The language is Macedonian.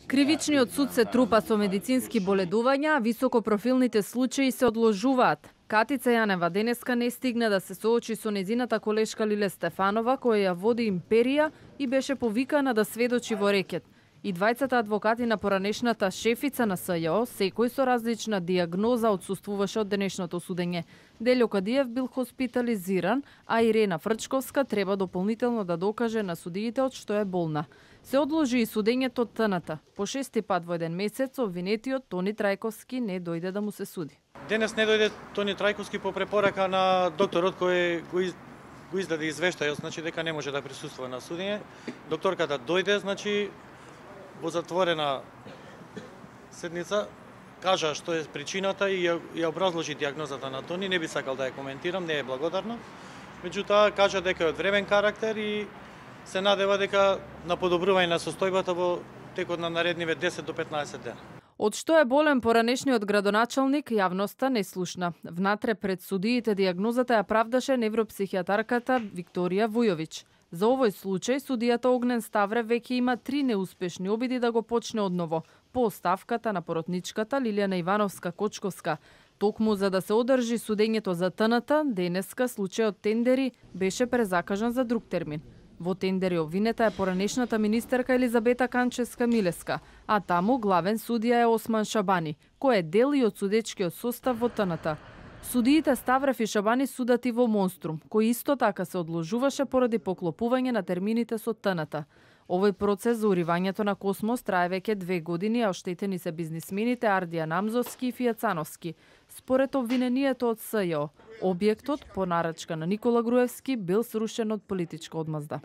Кривичниот суд се трупа со медицински боледувања, а високопрофилните случаи се одложуваат. Катица Јанева денеска не стигна да се соочи со незината колешка Лиле Стефанова, која ја води империја и беше повикана да сведочи во рекет. И двајцата адвокати на поранешната шефица на СЈО, секој со различна диагноза, отсуствуваше од денешното судење. Делјо Кадиев бил хоспитализиран, а Ирена Фрчковска треба дополнително да докаже на судиите од што е болна. Се одложи и судењето од ТНТ. По 6-ти пат во еден месец обвинетиот Тони Трајковски не дојде да му се суди. Денес не дојде Тони Трајковски по препорака на докторот кој го издаде извештајот, значи дека не може да присуствува на судење. Докторката дојде, значи во затворена седница, кажа што е причината и ја образложи диагнозата на Тони. Не би сакал да ја коментирам, не е благодарна. Меѓутоа, кажа дека е од времен карактер и се надева дека на подобрување на состојбата во текот на наредниве 10 до 15 дена. Од што е болен поранешниот градоначалник, јавноста не слушна. Внатре пред судиите диагнозата ја правдаше невропсихијатарката Викторија Вујовиќ. За овој случај судијата Огнен Ставре веќе има 3 неуспешни обиди да го почне одново, по оставката на поротничката Лилијана Ивановска-Кочковска. Токму за да се одржи судењето за ТНТ, денеска случајот Тендери беше презакажан за друг термин. Во Тендери обвинета е поранешната министерка Елизабета Канчевска-Милеска, а таму главен судија е Осман Шабани, кој е дел и од судечкиот состав во ТНТ. Судиите Ставрев и Шабани судат и во Монструм, кој исто така се одложуваше поради поклопување на термините со ТНТ. Овој процес за уривањето на Космос трае веќе 2 години, а оштетени се бизнисмените Ардија Намзовски и Фијацановски. Според обвинението од СЈО, објектот по нарачка на Никола Груевски бил срушен од политичка одмазда.